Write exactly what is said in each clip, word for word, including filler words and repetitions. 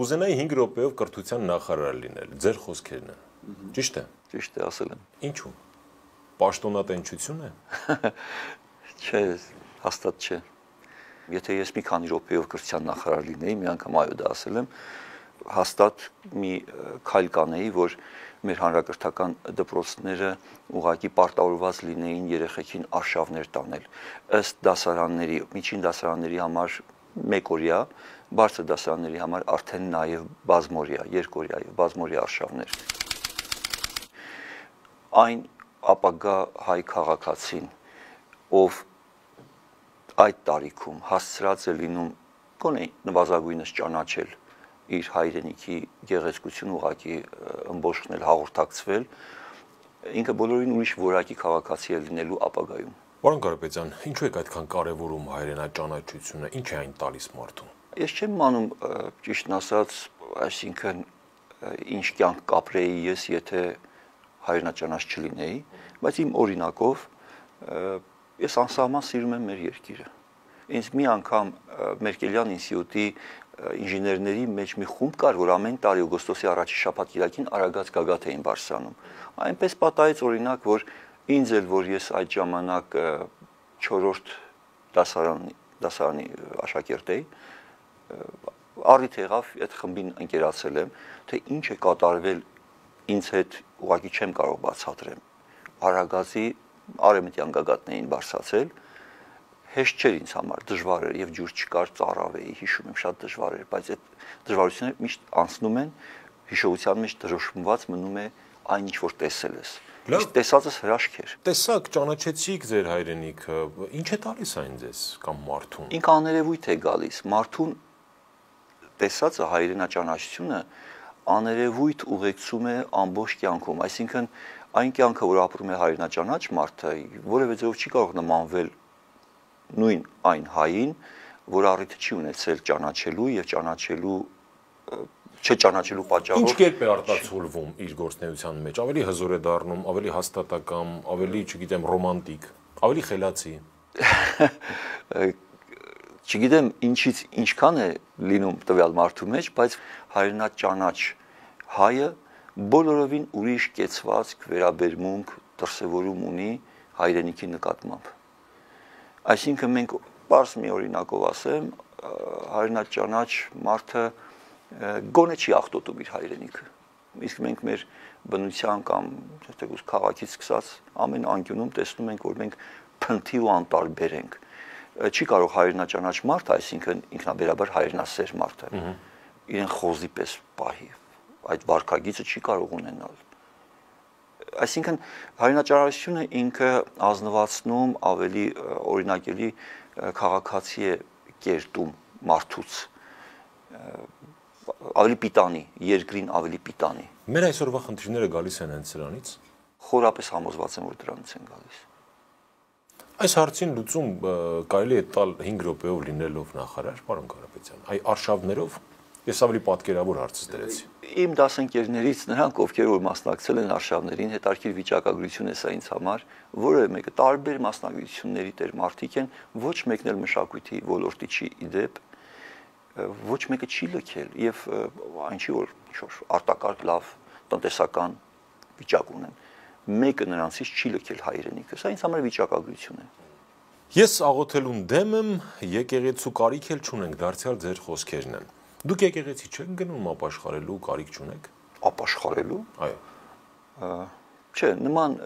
կուզենայի հինգ րոպեով կրթության նախարար լինել, ձեր խոսքերն են, ճիշտ է։ Ճիշտ է, ասել եմ։ Ինչու՞։ Պաշտոնատենչություն է։ Չէ, հաստատ չէ։ Եթե ես մի քանի րոպեով կրթության նախարար լինեի, մի անգամ այո դա ասել եմ, հաստատ մի քայլ կանեի, որ մեր հանրակրթական դպրոցները ուղղակի պարտավորված լինեին երեխեքին արշավներ տանել։ Ըստ դասարանների, միջին դասարանների համար մեկօրյա, բարձր դասարանների համար արդեն նաև բազմօրյա, երկօրյա եւ բազմօրյա արշավներ։ Այն ապագա հայ քաղաքացին, ով այդ տարիքում հասցրած է լինում գոնե նվազագույնս ճանաչել իր հայրենիքի գեղեցկություն ուղղակի ըմբոշխնել, հաղորդակցվել, ինքը բոլորին ուրիշ որակի քաղաքացի է լինելու ապագայում։ Պարոն Կարապետյան, ինչու եք այդքան կարևորում հայրենաճանաչությունը, ինչ է այն տալիս մարդուն։ Ես չեմ մանում, ճիշտն ասած, այսինքն ինչ կյանք կապրեի ես, եթե հայրենաճանաչ չլինեի, բայց իմ օրինակով ես անսահման սիրում եմ մեր երկիրը։ Ինձ մի անգամ Մերկելյան ինստիտուտի ինժեներների մեջ մի խումբ կար, որ ամեն տարի օգոստոսի առաջի շաբաթ կիրակին Արագած գագաթ էին բարձրանում։ Այնպես պատահեց օրինակ, որ ինձ էլ, որ ես այդ ժամանակ չորրորդ դասարանի դասարանի աշակերտ էի, առիթ եղավ այդ խմբին ընկերացել եմ, թե ինչ է կատարվել ինձ հետ ուղղակի չեմ կարող բացատրեմ։ Արագածի արևմտյան գագաթն էին բարձրացել, հեշտ չէր ինձ համար, դժվար էր եւ ջուր չկար, ծարավ էի, հիշում եմ, շատ դժվար էր, բայց այդ դժվարությունները միշտ անցնում են, հիշողության մեջ դրոշմված մնում է այն ինչ որ տեսել ես։ Իսկ տեսածս հրաշք էր։ Տեսակ, ճանաչեցիք ձեր հայրենիքը, ինչ է տալիս այն ձեզ կամ մարդուն։ Ինքը աներևույթ է գալիս, մարդուն տեսածը հայրենաճանաչությունը աներևույթ ուղեկցում է ամբողջ կյանքում, այսինքն այն կյանքը, որ ապրում է հայրենաճանաչ մարդը, որևէ ձևով չի կարող նմանվել նույն այն հային, որ առիթը չի ունեցել ճանաչելու եւ ճանաչելու չճանաչելու պատճառով։ Ինչ կերպ է արտացոլվում իր գործնեության մեջ, ավելի հզոր է դառնում, ավելի հաստատակամ, ավելի, չգիտեմ, ռոմանտիկ, ավելի խելացի։ Չգիտեմ ինչից ինչքան է լինում տվյալ մարդու մեջ, բայց հայրենաճանաչ հայը բոլորովին ուրիշ կեցվածք, վերաբերմունք, դրսևորում ունի հայրենիքի նկատմամբ։ Այսինքն մենք պարզ մի օրինակով ասեմ, հայրենաճանաչ մարդը գոնե չի աղտոտում իր հայրենիքը։ Իսկ մենք մեր բնության կամ թեկուզ քաղաքից սկսած ամեն անկյունում տեսնում ենք, որ մենք փնթի ու անտարբեր ենք։ Չի կարող հայրենաճանաչ մարդ, այսինքն ինքնաբերաբար հայրենասեր մարդը իրեն խոզի պես պահի, այդ վարքագիծը չի կարող ունենալ։ Այսինքն հայրենաճանաչությունը ինքը ազնվացնում ավելի օրինակելի քաղաքացի է կերտում մարդուց, ավելի պիտանի, երկրին ավելի պիտանի։ Մեր այսօրվա խնդիրները գալիս են հենց սրանից։ Խորապես համոզված եմ, որ դրանից են գալիս։ Այս հարցին լուծում կարելի է տալ հինգ րոպեով լինելով նախարար, պարոն Կարապետյան, այ արշավներով ես ավելի պատկերավոր հարցս դրեցի։ Իմ դասընկերներից նրանք, ովքեր որ մասնակցել են արշավներին, հետարքիր վիճակագրություն է սա ինձ համար, որը մեկը տարբեր մասնագիտությունների տեր մարդիկ են, ոչ մեկն էլ մշակույթի ոլորտի չի իդեպ, ոչ մեկը չի լքել եւ այնչի որ ինչ-որ արտակարգ լավ տնտեսական վիճակ ունեն, մեկը նրանցից չի լքել հայրենիքը, սա ինձ համար վիճակագրություն է։ Ես աղոթելուն դեմ եմ, եկեղեցու կարիք էլ չունենք, դարձյալ ձեր խոսքերն են։ Դուք եկեղեցի չեք գնում ապաշխարելու կարիք չունեք։ Ապաշխարելու։ Այո։ Չէ, նման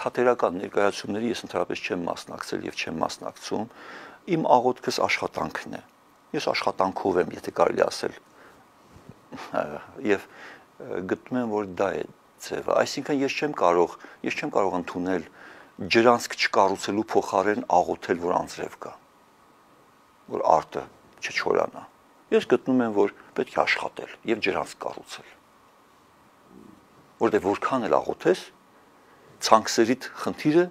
թատերական ներկայացումների ես ընդհանրապես չեմ մասնակցել եւ չեմ մասնակցում։ Իմ աղոթքս աշխատանքն է։ Ես աշխատանքով եմ, եթե կարելի ասել։ Եվ գտնում եմ, որ դա է ձևը։ Այսինքն ես չեմ կարող, ես չեմ կարող ընդունել ջրանցք չկառուցելու փոխարեն աղոթել, որ անձրև կա, որ արտը չչորանա։ Ես գտնում եմ, որ պետք է աշխատել եւ ջրանցք կառուցել։ Որտեղ որքան էլ աղոթես, ցանքսերիդ խնդիրը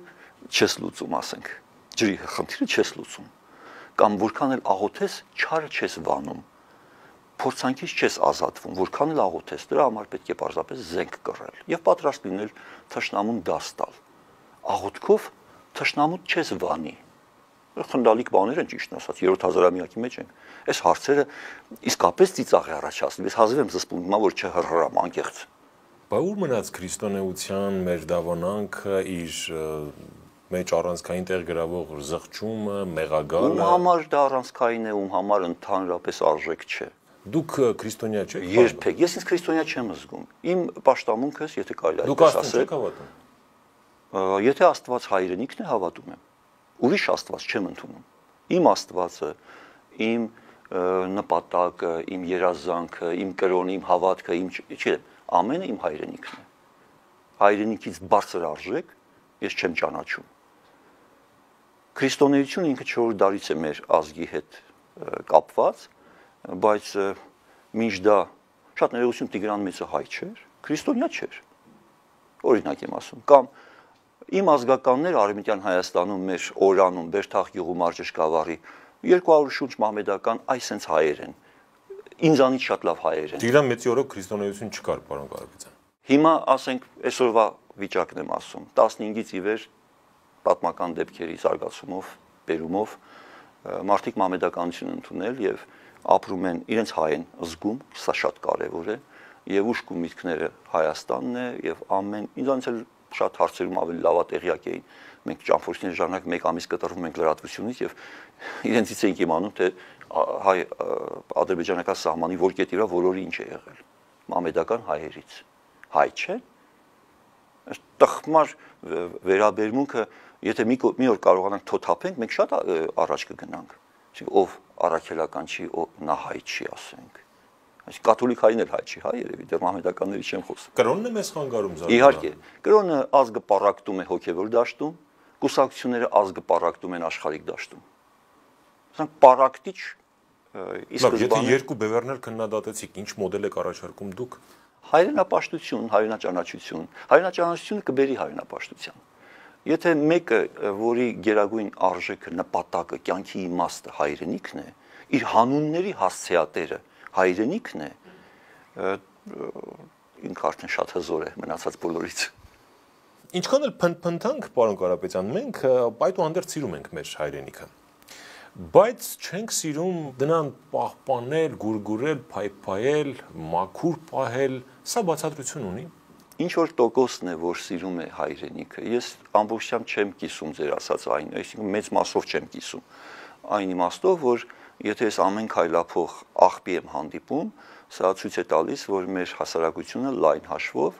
չես լուծում, ասենք, ջրի խնդիրը չես լուծում, կամ որքան էլ աղոթես, չարը չես վանում, փորձանքից չես ազատվում, որքան էլ աղոթես, դրա համար պետք է պարզապես զենք կռել եւ պատրաստ լինել թշնամուն դաս տալ։ Աղոթքով թշնամուդ չես վանի, խնդալիք բաներ են ճիշտ ասած, երրորդ հազարամյակի մեջ ենք։ Այս հարցերը իսկապես ծիծաղ է առաջացնում։ Ես հազիվ եմ զսպում հիմա, որ չհռհռամ անկեղծ։ Բա ուր մնաց քրիստոնեության մեր դավանանքը, իր մեջ առանցքային տեղ գրավող զղջումը, մեղագալը։ Ում համար դա առանցքային է, ում համար ընդհանրապես արժեք չէ։ Դուք քրիստոնյա չեք։ Երբեք, ես ինձ քրիստոնյա չեմ զգում։ Իմ պաշտամունքս, եթե կարելի է Դուք ասել, Աստծուն չեք հավատում։ Եթե Աստված հայրենիքն է, հավատում եմ։ Ուրիշ Աստված չեմ ընդունում։ Իմ Աստվածը, իմ նպատակը, իմ երազանքը, իմ կրոնը, իմ հավատքը, իմ չէ, ամենը իմ հայրենիքն է։ Հայրենիքից բարձր արժեք ես չեմ ճանաչում։ Քրիստոնեությունը ինքը չորրորդ դարից է մեր ազգի հետ կապված, բայց մինչ դա շատ ներողություն Տիգրան Մեծը հայ չէր, քրիստոնյա չէր։ Օրինակ եմ ասում, կամ իմ ազգականներ Արևմտյան Հայաստանում մեր օրանում, Բերթախ գյուղում Մարջեշկավառի երկու հարյուր շունչ մահմեդական այ սենց հայեր են։ Ինձանից շատ լավ հայեր են։ Տիգրան Մեծի օրոք քրիստոնեություն չկար, պարոն Կարապետյան։ Հիմա ասենք այսօրվա վիճակն եմ ասում, տասնհինգից ի վեր պատմական դեպքերի զարգացումով, բերումով մարդիկ մահմեդականություն ընդունել եւ ապրում են, իրենց հայ են զգում, սա շատ կարեւոր է, եւ ուշք ու միտքները Հայաստանն է եւ ամեն ինձանից էլ շատ հարցերում ավելի լավատեղյակ էին։ Մենք ճամփորդների ժամանակ մեկ ամիս կտրվում ենք լրատվությունից եւ իրենցից էինք իմանում, թե հայ ադրբեջանական սահմանի որ կետի վրա որորի ինչ է եղել։ Մահմեդական հայերից։ Հայ չեն։ Տխմար վերաբերմունքը, եթե մի մի օր կարողանանք թոթափենք, մենք շատ առաջ կգնանք։ Ով առաքելական չի, նա հայ չի, ասենք։ Այսինքն կաթոլիկ հայն էլ հայ չի, հա, երևի դեռ մահմեդականների չեմ խոսում։ Կրոնն է մեզ խանգարում զարգանալու։ Իհարկե, կրոնը ազգը պառակտում է հոգևոր դաշտում, կուսակցությունները ազգը պառակտում են աշխարհիկ դաշտում։ Ասենք պառակտիչ իսկ եթե երկու բևեռներ քննադատեցիք, ինչ մոդել եք առաջարկում դուք։ Հայրենապաշտություն, հայրենաճանաչություն, հայրենաճանաչությունը կբերի հայրենապաշտության։ Եթե մեկը, որի գերագույն արժեքը, նպատակը, կյանքի իմաստը հայրենիքն է, իր հանունների հասցեատերը հայրենիքն է, ինքը արդեն շատ հզոր է մնացած բոլորից։ Ինչքան էլ փնփնթանք, պարոն Կարապետյան, մենք պայթուհանդերձ սիրում ենք մեր հայրենիքը։ Բայց չենք սիրում դրան պահպանել, գուրգուրել, փայփայել, մաքուր պահել, սա բացատրություն ունի։ Ինչ որ տոկոսն է, որ սիրում է հայրենիքը։ Ես ամբողջությամբ չեմ կիսում ձեր ասած այն, այսինքն մեծ մասով չեմ կիսում։ Այն իմաստով, որ եթե ես ամեն քայլափող աղբի եմ հանդիպում, սա ցույց է տալիս, որ մեր հասարակությունը լայն հաշվով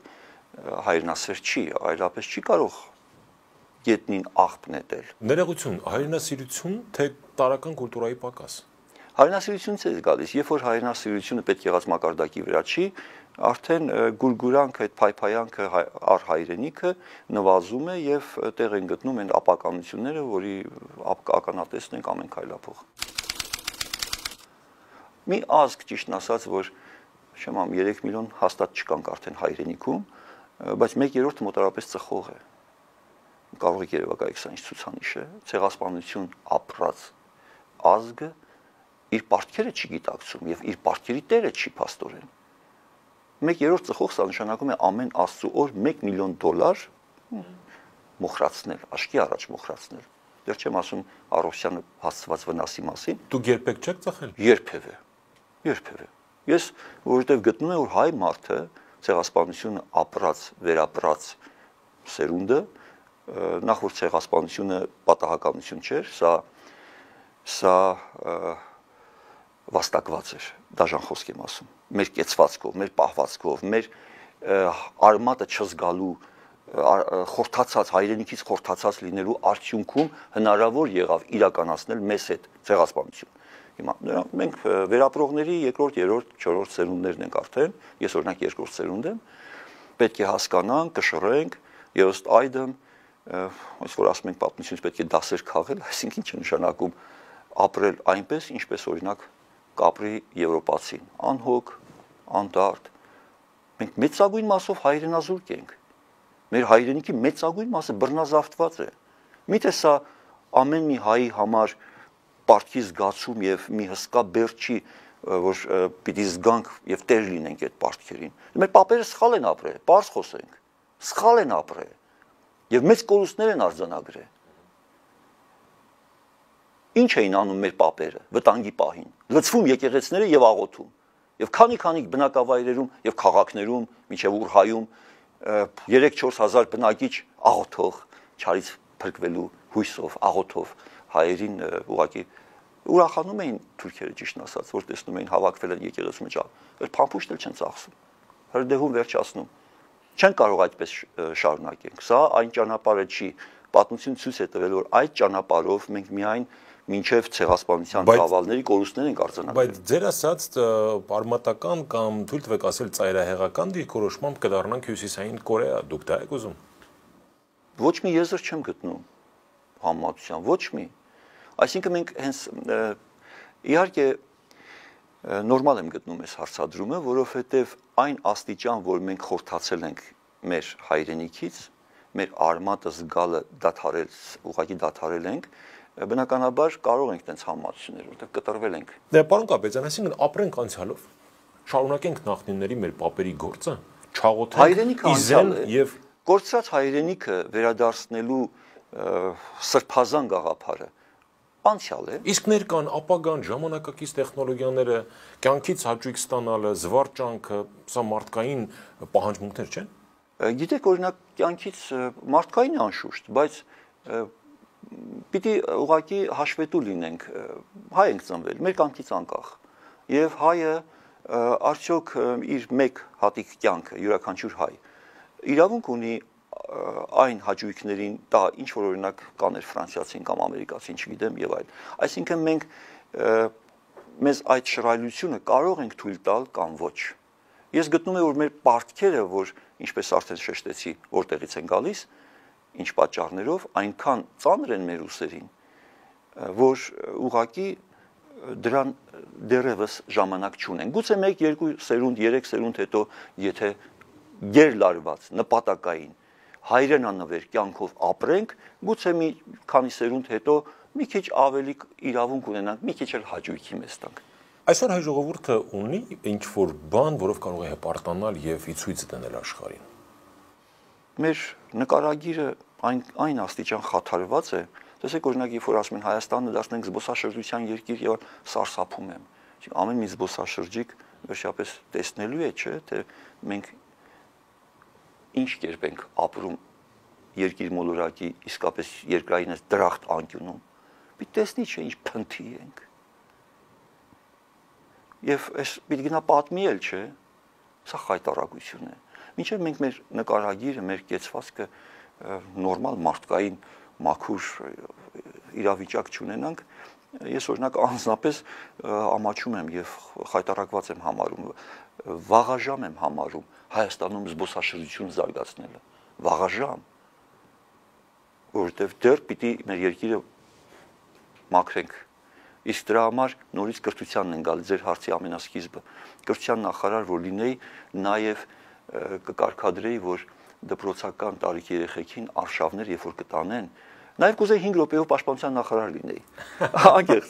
հայրենասեր չի, այլապես չի կարող գետնին աղբ նետել։ Ներողություն, հայրենասիրություն, թե տարական կուլտուրայի պակաս։ Հայրենասիրությունից է գալիս, երբ որ հայրենասիրությունը պետք եղած մակարդակի վրա չի, արդեն գուրգուրանքը, այդ փայփայանքը առ հայրենիքը նվազում է եւ տեղ են գտնում այն ապականությունները, որի ականատեսն ենք ամեն քայլափող։ Մի ազգ ճիշտն ասած, որ չեմ ամ երեք միլիոն հաստատ չկանք արդեն հայրենիքում, բայց մեկ երրորդը մոտարապես ծխող է։ Կարող եք երևակայեք սա ինչ ցուցանիշ է, ցեղասպանություն ապրած ազգը իր պարտքերը չի գիտակցում եւ իր պարտքերի տերը չի փաստորեն։ Մեկ երրորդ ծխող սա նշանակում է ամեն աստծու օր մեկ միլիոն դոլար մոխրացնել, աշկի առաջ մոխրացնել։ Դեռ չեմ ասում առողջանը հասցված վնասի մասին։ Դուք երբեք չեք ծխել։ Երբևէ։ Երբևէ։ Ես որովհետեւ գտնում եմ, որ հայ մարդը ցեղասպանությունը ապրած, վերապրած սերունդը նախ որ ցեղասպանությունը պատահականություն չէր, սա սա վաստակված էր, դաժան խոսք եմ ասում, մեր կեցվածքով, մեր պահվածքով, մեր արմատը չզգալու, խորթացած, հայրենիքից խորթացած լինելու արդյունքում հնարավոր եղավ իրականացնել մեզ հետ ցեղասպանություն։ Հիմա մենք վերապրողների երկրորդ, երրորդ, չորրորդ սերունդներն ենք արդեն, ես օրինակ երկրորդ սերունդ եմ, պետք է հասկանանք, կշռենք, եւ ըստ այդմ այս որ ասում ենք պատմությունից պետք է դասեր քաղել, այսինքն ինչ է նշանակում ապրել այնպես, ինչպես օրինակ կապրի եվրոպացին, անհոգ, անտարտ։ Մենք մեծագույն մասով հայրենազուրկ ենք։ Մեր հայրենիքի մեծագույն մասը բռնազավթված է։ Միթե սա ամեն մի հայի համար պարտքի զգացում եւ մի հսկա բեռ չի, որ պիտի զգանք եւ տեր լինենք այդ պարտքերին։ Մեր պապերը սխալ են ապրել, բարձ խոսենք։ Սխալ են ապրել եւ մեծ կորուստներ են արձանագրել։ Ինչ էին անում մեր պապերը վտանգի պահին։ Լցվում եկեղեցիները եւ աղոթում։ Եվ քանի-քանի բնակավայրերում եւ քաղաքներում, մինչեւ Ուրհայում երեք-չորս հազար բնակիչ աղոթող, չարից փրկվելու հույսով, աղոթով հայերին ուղղակի ուրախանում էին թուրքերը, ճիշտն ասած, որ տեսնում էին հավաքվել են եկեղեցու մեջ, այլ փամփուշտ էլ չեն ծախսում։ Հրդեհում վերջացնում։ Չեն կարող այդպես շարունակենք։ Սա այն ճանապարհը չի։ Պատմություն ցույց է տվել, որ այդ ճանապարհով մենք միայն մինչև ցեղասպանության խավալների կորուստներ ենք արձանագրել։ Բայց ձեր ասած արմատական կամ թույլ տվեք ասել ծայրահեղական դիրքորոշմամբ կդառնանք Հյուսիսային Կորեա, դուք դա եք ուզում։ Ոչ մի եզր չեմ գտնում համեմատության, ոչ մի։ Այսինքն մենք հենց իհարկե նորմալ եմ գտնում այս հարցադրումը, որովհետև այն աստիճան, որ մենք խորթացել ենք մեր հայրենիքից, մեր արմատը զգալը դադարել, ուղղակի դադարել ենք, բնականաբար կարող ենք տենց համեմատություններ, որտեղ կտրվել ենք։ Դե պարոն Կապետյան, այսինքն ապրենք անցյալով, շարունակենք նախնիների մեր պապերի գործը, չաղոթենք իզեն եւ կորցրած հայրենիքը վերադարձնելու սրբազան գաղափարը անցյալ է։ Իսկ ներկան, ապագան, ժամանակակից տեխնոլոգիաները, կյանքից հաճույք ստանալը, զվարճանքը, սա մարդկային պահանջմունքներ չեն։ Գիտեք, օրինակ, կյանքից մարդկային է անշուշտ, բայց պիտի ուղղակի հաշվետու լինենք, հայ ենք ծնվել, մեր կյանքից անկախ, եւ հայը արդյոք իր մեկ հատիկ կյանքը, յուրաքանչյուր հայ, իրավունք ունի այն հաճույքներին, դա ինչ որ օրինակ կաներ ֆրանսիացին կամ ամերիկացին, չգիտեմ, եւ այլ։ Այսինքն մենք մեզ այդ շռայլությունը կարող ենք թույլ տալ կամ ոչ։ Ես գտնում եմ, որ մեր պարտքերը, որ ինչպես արդեն շեշտեցի, որտեղից են գալիս, ինչ պատճառներով, այնքան ծանր են մեր ուսերին, որ ուղղակի դրան դեռևս ժամանակ չունեն։ Գուցե մեկ, երկու սերունդ, երեք սերունդ հետո, եթե գերլարված, նպատակային, հայրենանվեր կյանքով ապրենք, գուցե մի քանի սերունդ հետո մի քիչ ավելի իրավունք ունենանք, մի քիչ էլ հաճույքի մեզ տանք։ Այսօր հայ ժողովուրդը ունի ինչ-որ բան, որով կարող է հպարտանալ եւ ի ցույց դնել աշխարհին։ Մեր նկարագիրը այն այն աստիճան խաթարված է, տեսեք օրինակ, երբ որ ասում են Հայաստանը դարձնենք զբոսաշրջության երկիր, եւ սարսափում եմ։ Ամեն մի զբոսաշրջիկ վերջապես տեսնելու է, չէ՞, թե մենք ինչ կերպ ենք ապրում երկիր մոլորակի իսկապես երկրային այս դրախտ անկյունում։ Պիտի տեսնի, չէ, ինչ փնթի ենք։ Եվ այս պիտի գնա պատմի էլ, չէ, սա խայտարակություն է։ Մինչև մենք մեր նկարագիրը, մեր կեցվածքը նորմալ մարդկային մաքուր իրավիճակ չունենանք, ես օրինակ անձնապես ամաչում եմ եւ խայտարակված եմ համարում, վաղաժամ եմ համարում Հայաստանում զբոսաշրջություն զարգացնելը, վաղաժամ, որովհետև դեռ պիտի մեր երկիրը մաքրենք։ Իսկ դրա համար նորից կրթությանն են գալի, ձեր հարցի ամենասկիզբը։ Կրթության նախարար, որ լինեի, նաև կկարգադրեի, որ դպրոցական տարիքի երեխեքին արշավներ, երբ որ կտանեն, նաև կուզեի հինգ րոպեով պաշտպանության նախարար լինեի։ Անկեղծ,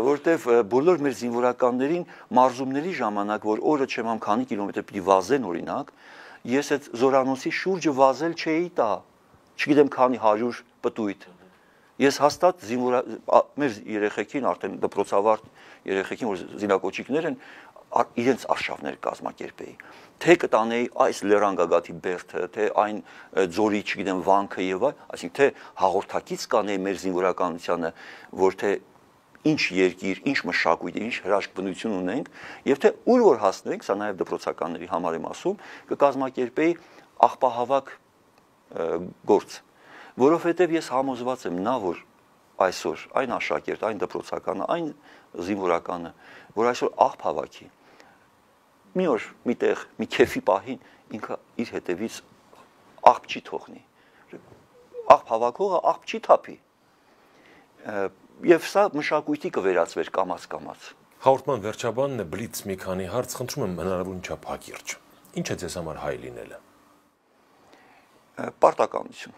որտեվ բոլոր մեր զինվորականներին մարզումների ժամանակ, որ օրը չեմ համ քանի կիլոմետր պիտի վազեն օրինակ, ես այդ զորանոցի շուրջը վազել չէի տա, չգիտեմ քանի հարյուր պտույտ։ Ես հաստատ զինվոր մեր երեխեքին, արդեն դպրոցավարտ երեխեքին, որ զինակոչիկներ են, իրենց արշավներ կազմակերպեի։ Թե կտանեի այս լեռան-գագաթի բերդը, թե այն ձորի, չգիտեմ, վանքը եւ այլ, այսինքն թե հաղորդակից կանեի մեր զինվորականությանը, որ թե ինչ երկիր, ինչ մշակույթ, ինչ հրաշք բնություն ունենք, եւ թե ուր որ հասնենք, սա նաեւ դպրոցականների համար եմ ասում, կկազմակերպեի աղբահավաք գործ, որովհետեւ ես համոզված եմ նա, որ այսօր այն աշակերտ, այն դպրոցականը, այն զինվորականը, որ այսօր աղբ հավաքի, մի օր միտեղ, մի քեֆի պահին ինքը իր հետևից աղբ չի թողնի, աղբ հավաքողը աղբ չի թափի, եւ սա մշակույթի կվերածվեր կամաց-կամաց։ Հաղորդման վերջաբանն է բլից մի քանի հարց, խնդրում եմ հնարավորին չափ հակիրճ։ Ինչ է ձեզ համար հայ լինելը։ Պարտականություն։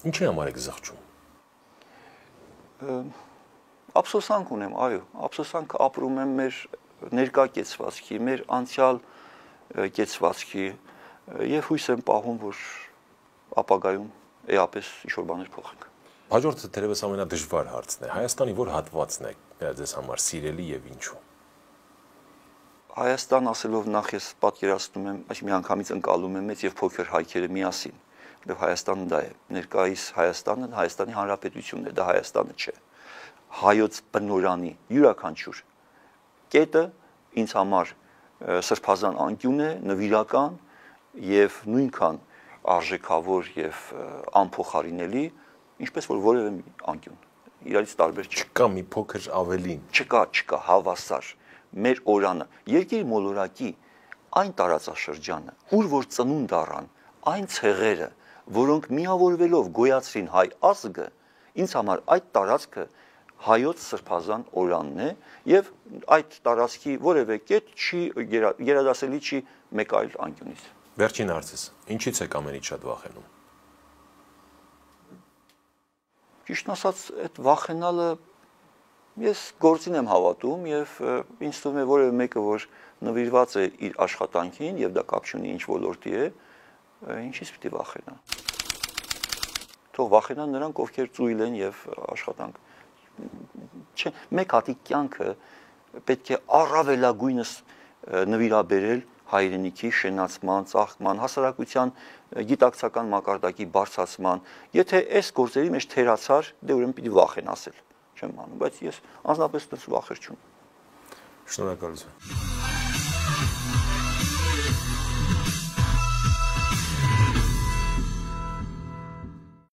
Ինչի համար եք զղջում։ Ափսոսանք ունեմ, այո, ափսոսանք ապրում եմ մեր ներկա կեցվածքի, մեր անցյալ կեցվածքի եւ հույս եմ պահում, որ ապագայում էապես ինչ-որ բաներ փոխենք։ Հաջորդը թերևս ամենադժվար հարցն է։ Հայաստանի որ հատվածն է ձեզ համար սիրելի եւ ինչու։ Հայաստան ասելով նախ ես պատկերացնում եմ, այս միանգամից ընկալում եմ մեծ եւ փոքր հայքերը միասին։ Որտեղ Հայաստանը դա է։ Ներկայիս Հայաստանը Հայաստանի Հանրապետությունն է, դա Հայաստանը չէ։ Հայոց բնորանի յուրաքանչյուր կետը ինձ համար սրբազան անկյուն է, նվիրական եւ նույնքան արժեքավոր եւ անփոխարինելի, ինչպես որ որևէ մի անկյուն։ Իրարից տարբեր չէ։ Չկա մի փոքր ավելին։ Չկա, չկա, հավասար։ Մեր օրանը, երկիր մոլորակի այն տարածաշրջանը, ուր որ ծնունդ առան, այն ցեղերը, որոնք միավորվելով գոյացրին հայ ազգը, ինձ համար այդ տարածքը հայոց սրբազան օրանն է եւ այդ տարածքի որևէ կետ չի գերադասելի չի մեկ այլ անկյունից։ Վերջին հարցս, ինչից եք ամենից շատ վախենում։ Ճիշտ ասած, այդ վախենալը ես գործին եմ հավատում եւ ինձ թվում է որևէ մեկը, որ նվիրված է իր աշխատանքին եւ դա կապ չունի ինչ ոլորտի է, ինչից պիտի վախենա։ Թող վախենան նրանք, ովքեր ծույլ են եւ աշխատանք Չէ, մեկ հատի կյանքը պետք է առավելագույնս նվիրաբերել հայրենիքի շենացման, ծաղկման, հասարակության գիտակցական մակարդակի բարձրացման։ Եթե այս գործերի մեջ թերացար, դե ուրեմն պիտի վախեն ասել, չեմ անում, բայց ես անձնապես դեռ վախեր չունեմ։ Շնորհակալություն։